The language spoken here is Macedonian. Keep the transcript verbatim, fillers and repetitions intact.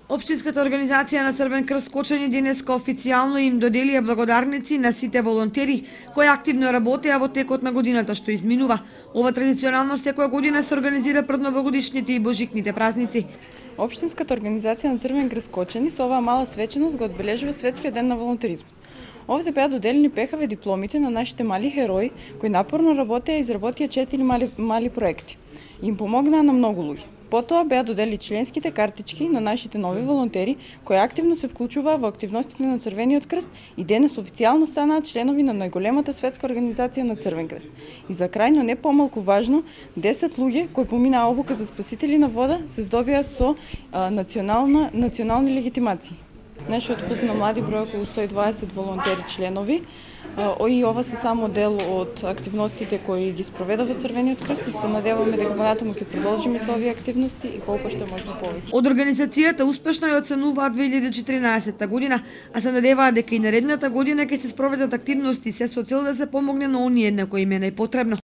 Општинската организација на Црвен крст Кочани денеска официјално им доделија благодарници на сите волонтери кои активно работеа во текот на годината што изминува. Ова традиционално секоја година се организира пред новогодишните и божикните празници. Општинската организација на Црвен крст Кочани со оваа мала свеченост го одбележува Светскиот ден на волонтеризмот. Овде беа доделени пехаве дипломите на нашите мали херои кои напорно работеа и изработија четири мали, мали проекти. Им помогнаа на многу луѓе. Потоа беа додели членските картички на нашите нови волонтери кои активно се вклучуваа во активностите на Црвениот крст и денес официјално станаа членови на најголемата светска организација на Црвен крст. И за крај, но не помалку важно, десет луѓе кои поминаа обука за спасители на вода се здобија со а, национална национални легитимации. Нашиот клуб на млади број околу сто и дваесет волонтери членови. И ова се само дел од активностите кои ги спроведува Црвениот крст и се надеваме дека понатаму ќе продолжиме со овие активности и колку што може повеќе. Од организацијата успешно ја оценуваат две илјади и четиринаесетта година, а се надеваат дека и наредната година ќе се спроведат активности се со цел да се помогне на оние на кои им е најпотребно.